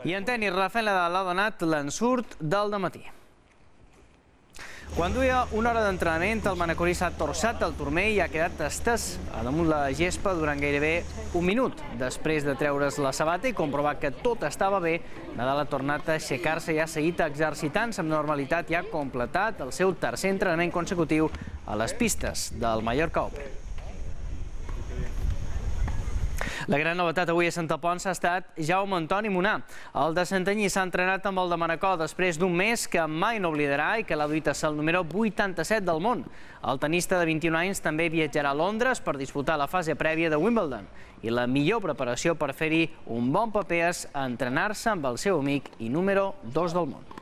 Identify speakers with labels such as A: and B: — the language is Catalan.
A: I en tenis, Rafael Nadal ha donat l'ensurt del dematí. Quan duia una hora d'entrenament, el manacorí s'ha torçat al turmell i ha quedat estès a damunt la gespa durant gairebé un minut. Després de treure's la sabata i comprovar que tot estava bé, Nadal ha tornat a aixecar-se i ha seguit exercitant-se amb normalitat i ha completat el seu tercer entrenament consecutiu a les pistes del Mallorca Open. La gran novetat avui a Sant Alphonse ha estat Jaume Antoni Munar. El de Santanyí s'ha entrenat amb el de Manacor després d'un mes que mai no oblidarà i que l'ha duit a ser el número 87 del món. El tenista de 21 anys també viatjarà a Londres per disputar la fase prèvia de Wimbledon. I la millor preparació per fer-hi un bon paper és entrenar-se amb el seu amic i número 2 del món.